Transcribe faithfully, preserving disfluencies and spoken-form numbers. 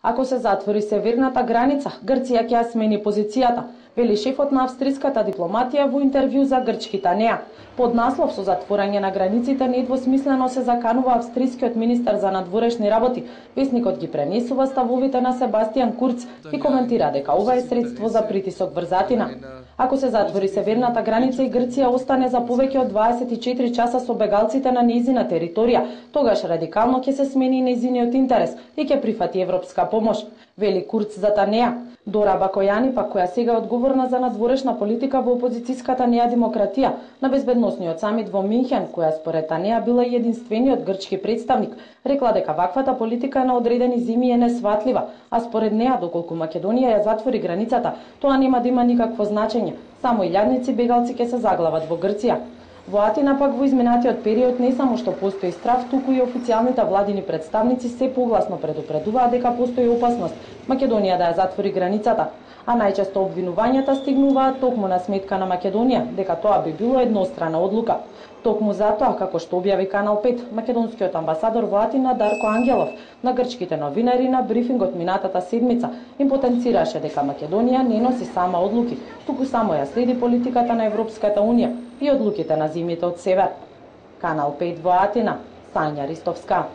Ако се затвори северната граница, Грција ќе ја смени позицијата, вели шефот на австриската дипломатија во интервју за грчките неа. Под наслов со затворање на границите недвосмислено се заканува австрискиот министер за надворешни работи. Весникот ги пренесува ставовите на Себастијан Курц и коментира дека ова е средство за притисок врз Атина. Ако се затвори северната граница и Грција остане за повеќе од дваесет и четири часа со бегалците на нејзина територија, тогаш радикално ќе се смени нејзиниот интерес и ќе прифати европска помош, вели Курц за Танеа. Дора Бакојани, пак која сега е одговорна за надворешна политика во опозицијската Неа демократија на безбедносниот самит во Минхен, која според Танеа била единствениот грчки представник, рекла дека ваквата политика на одредени зими е несватлива, а според неа доколку Македонија ја затвори границата, тоа нема да има никакво значење, само илјадници бегалци ќе се заглават во Грција. Во Атина пак во изминатиот период не само што постои страв, туку и официјалните владини представници се погласно предупредуваат дека постои опасност Македонија да ја затвори границата, а најчесто обвинувањата стигнуваат токму на сметка на Македонија дека тоа би било еднострана одлука. Токму затоа, како што објави Канал пет, македонскиот амбасадор во Атина Дарко Ангелов на грчките новинари на брифингот минатата седмица им потенцираше дека Македонија не носи сама одлуки, туку само ја следи политиката на Европската унија и одлуките на земјите од север. Канал пет во Атина, Сања Ристовска.